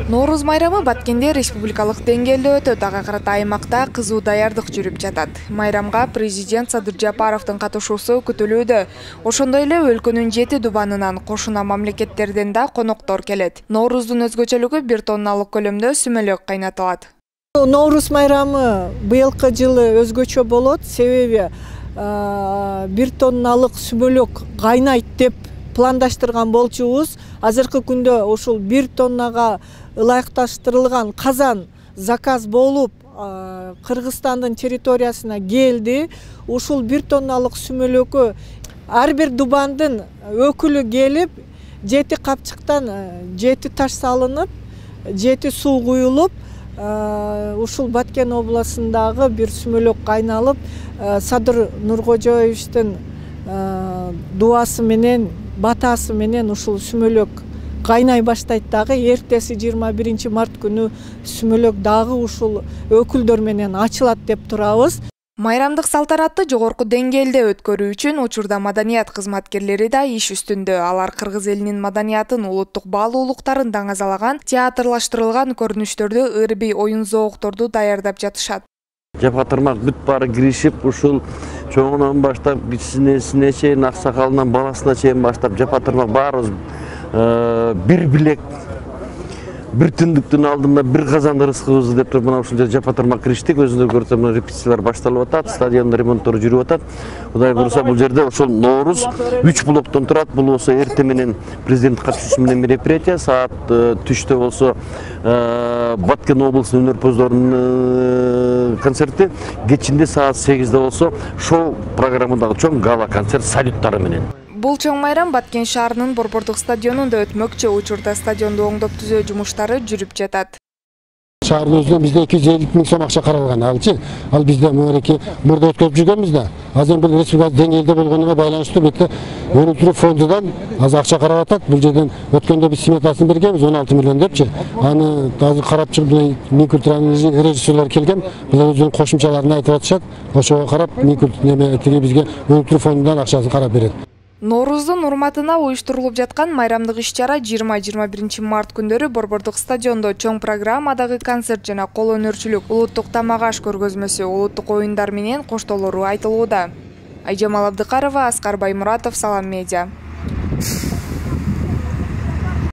Нооруз майрамы Баткенде республикалык деңгээлде өтөт. Ага карата аймакта кызуу даярдык жүрүп жатат. Майрамга президент Садыр Жапаровдун катышуусу күтүлүүдө. Ошондой эле өлкөнүн 7 дубанынан кошуна мамлекеттерден да коноктор келет. Нооруздун өзгөчөлүгү 1 тонналык көлөмдө сүмөлөк кайнатылат. Нооруз майрамы быйылкы жылы өзгөчө болот, себеби 1 тонналык сүмөлөк кайнайт деп пландаштырган болчубуз. Азыркы күндө ушул 1 тоннага ылайыкташтырылган казан заказ болуп, Кыргызстандын территориясына келди. Ушул 1 тонналык сүмөлөккө ар бир дубандын өкүлү келип, 7 капчыктан 7 таш салынып, 7 суу куюлуп, ушул Баткен областындагы бир сүмөлөк кайналып, Садыр Нуркожоевичтин дуасы менен, батасы менен ушул сүмөлөк кайнай баштайт дагы. Эртеси 21 март күнү сүмөлөк дагы ушул өкүлдөр менен ачылат деп турабыз. Майрамдык салтанатты жогорку деңгээлде өткөрүү үчүн учурда маданият кызматкерлери да иш үстүндө. Алар кыргыз элинин маданиятын, улуттук баалуулуктарын даңазалаган, театрлаштырылган көрүнүштөрдү, ырбий оюн-зоокторду даярдап жатышат. Жапатырмак бүт баары киришип, ушул чоңунан баштап, кичинесине чейин, аксакалынан баласына чейин баштап, жапатырмак баарыбыз бир билек, бир түндүктүн алдында бир казан ырыскыбызды деп туруп, мына ушул жапатырмак кириштик. Өзүңөр көрсөңөр, мына репетициялар башталып атат, стадиондун ремонттору жүрүп атат. Кудай буюрса, бул жерде ошол Нооруз 3 блоктон турат. Бул болсо эрте менен президент катышуусу менен мероприятие, саат түштө болсо Баткен облусунун өнөрпөздөрүнүн концерти, кечинде саат 8-де болсо шоу программадагы чоң гала концерт салюттары менен. Бул чоң майрам Баткен шаарынын Борбордук стадионунда өтмөкчү. Учурда стадионду оңдоп түзөө жумуштары жүрүп жатат. Шаардын өзүнө бизде 250 000 сом акча каралган. Ал бизде мөреке мурда өткөрүп жүргөнбүз да. Азыр бул республика деңгээлде болгонуна байланыштуу бетте өнүктүрүү фондунан азыр акча карап атат. Бул жерден өткөндө биз сметасын бергенбиз 16 миллион депчи. Аны азыр карап чыгып, Минкультуранын режиссерлери келген. Булар өзүнүн кошумчаларын айтып атышат. Ошого карап Минкультура бизге өнүктүрүү фондунан акчасын карап берет. Нооруздун урматына уюштурулуп жаткан майрамдык иш-чара 20-21 март күндөрү Борбордук стадиондо чоң программадагы концерт жана кол өнөрчүлүк, улуттук тамак-аш көргөзмөсү, улуттук оюндар менен коштолору айтылууда. Айжамал Абдыкарова, Аскар Баймуратов, Салам Медиа.